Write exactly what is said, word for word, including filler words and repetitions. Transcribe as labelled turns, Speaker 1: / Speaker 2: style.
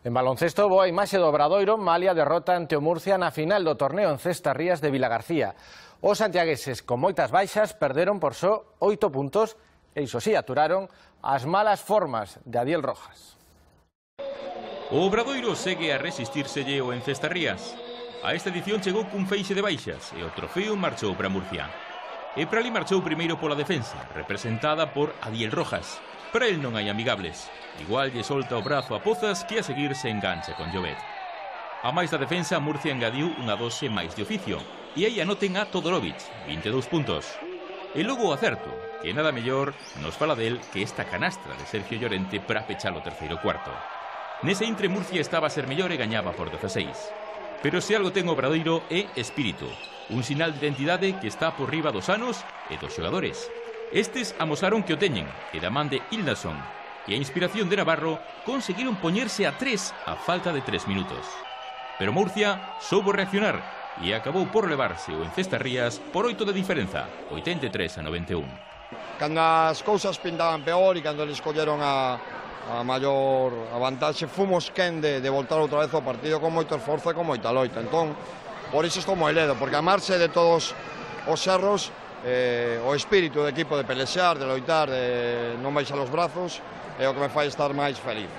Speaker 1: En baloncesto, boa imaxe do Obradoiro, malia derrota ante o Murcia na final do torneo en Cestarrías de Vilagarcía. Os santiagueses, con moitas baixas, perderon por só oito puntos e, iso sí, aturaron as malas formas de Adiel Rojas.
Speaker 2: O Obradoiro segue a resistírselle o en Cestarrías. A esta edición chegou cun feixe de baixas e o trofeo marchou para Murcia. E para ali marchou primeiro pola defensa, representada por Adiel Rojas. Para el non hai amigables. Igual lle solta o brazo a Pozas que a seguir se engancha con Llobet. A máis da defensa, Murcia engadiu unha dose máis de oficio. E aí anoten a Todorovic, vinte e dous puntos. E logo o acerto, que nada mellor nos fala del que esta canastra de Sergio Llorente para pechar o terceiro cuarto. Nese intre Murcia estaba a ser mellor e gañaba por dezaseis. Pero se algo ten o Obradoiro é espírito, un sinal de identidade que está por riba dos anos e dos xogadores. Estes amosaron que o teñen, e da man de Hildason e a inspiración de Navarro conseguiron poñerse a tres a falta de tres minutos. Pero Murcia soubo reaccionar e acabou por levarse o en Cestarrías por oito de diferenza, oitenta e tres a noventa e un.
Speaker 3: Cando as cousas pintaban peor e cando eles colleron a, a maior a vantaxe, fomos quen de, de voltar outra vez ao partido con moito esforzo e con moita loita. Entón, por iso estou moi ledo, porque a marxe de todos os erros, eh, o espírito do equipo de pelexar, de loitar, de non baixar os brazos, é o que me fai estar máis feliz.